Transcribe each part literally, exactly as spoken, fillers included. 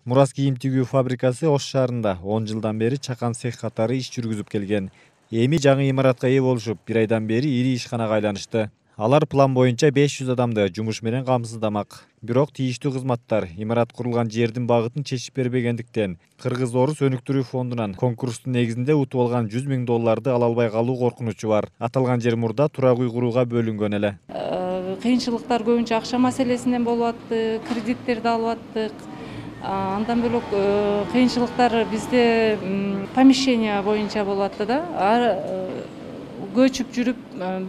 Мурас кийим тигүү фабрикасы Ош шаарында он жылдан бери чакан цех катары иш жүргүзүп келген. Эми жаңы имаратка ээ болушуп, бир айдан бери ири ишканага айланышты. Алар план боюнча беш жүз адамды жумуш менен камсыздамак. Бирок тийиштүү кызматтар имарат курулган жердин багытын чечип бербегендиктен Кыргыз-Орус өнүктүрүү фондунан конкурстун негизинде утуп алган жүз миң долларды ала албай калуу коркунучу бар. Аталган жер мурда турак үй курууга бөлүнгөн эле. Кыйынчылыктар көбүнчө акча маселесинен болуп атты, кредиттерди алып аттык. Андан бөлөк кыйынчылыктар бизде помещение боюнча болуп атты да. Көчүп жүрүп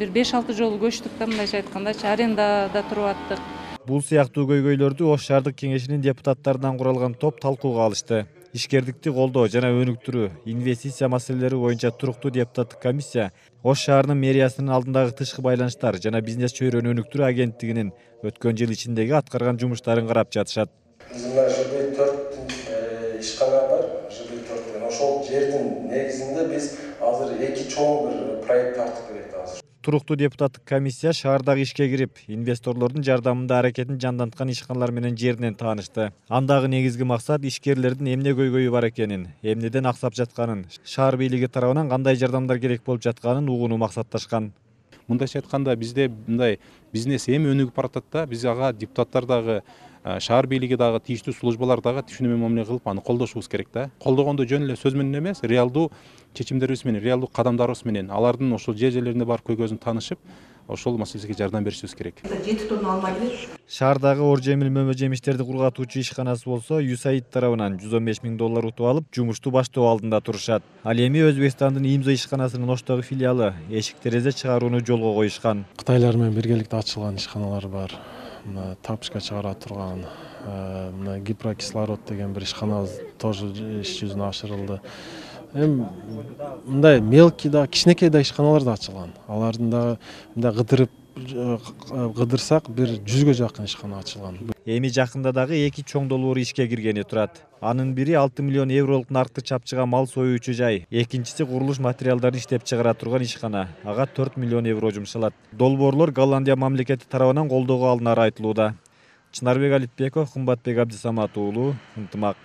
бир беш алты жолу көчтүк да, мындайча айткандачы, арендада туруп аттык. Бул сыяктуу көйгөйлөрдү Ош шаардык кеңешинин депутаттарынан куралган топ талкууга алышты. Ишкердикти колдоо жана өнүктүрүү, инвестиция маселелери боюнча туруктуу депутаттык комиссия Ош шаарынын мэриясынын алдындагы тышкы байланыштар жана бизнес чөйрөнү өнүктүрүү агенттигинин өткөн жыл ичиндеги аткарган жумуштарын карап жатышат. Мына ЖБ төрт ишкана бар, ЖБ төрт. Ошол жердин негизинде биз азыр эки чоң бир проект тартып берет азыр. Туруктуу депутаттык комиссия шаардагы ишке кирип, инвесторлордун жардамында аракетин жанданткан ишканалар менен жеринен таанышты. Андагы негизги максат ишкерлердин эмне көйгөйү бар экенин, эмнеден аксап жатканын, шаар бийлиги тарабынан кандай жардамдар керек болуп жатканын угууну максатташкан. Мындайча айтканда, бизде мындай бизнес эми өнүгүп баратат да, биз ага депутаттар дагы, шаар бийлиги дагы, тийиштүү службалар дагы түшүнүү мамиле кылып, аны колдошубуз керек да. Колдогондо жөн эле сөз менен эмес, реалдуу чечимдерибиз менен, реалдуу кадамдарыбыз менен, алардын ошол жер жерлерине барып көйгөзүн таанышып, ошол маселеге жардам беришибиз керек. жети тонна алма келет. Шаардагы ор жемил мөмө жемиштерди кургатуучу ишканасы болсо ю эс а и д тарабынан жүз он беш миң доллар утуп алып, жумушту баштоо алдында турушат. Ал эми Өзбекстандын Имзо ишканасынын Оштогу филиалы эшик терезе чыгарууну жолго коюшкан. Кытайлар менен биргеликте ачылган ишканалар бар. Мына тапочка чыгара турган, мына гипрокислород деген бир ишкана тоже иш жүзүнө ашырылды. Эми мындай мелкий да, кичинекей да ишканалар да ачылган. Алардын да мындай кыдырып кыдырсак бир жүзгө жакын ишкана ачылган. Эми жакында дагы эки чоң долбоор ишке киргени турат. Анын бири алты миллион евролук наркты чапчыга мал союучу жай, экинчиси курулуш материалдарын иштеп чыгара турган ишкана. Ага төрт миллион евро жумшалат. Долбоорлор Голландия мамлекети тарабынан колдоого алынары айтылууда. Чынарбек Алитбеков, Кымбатбек Абдисамат уулу, Ынтымак.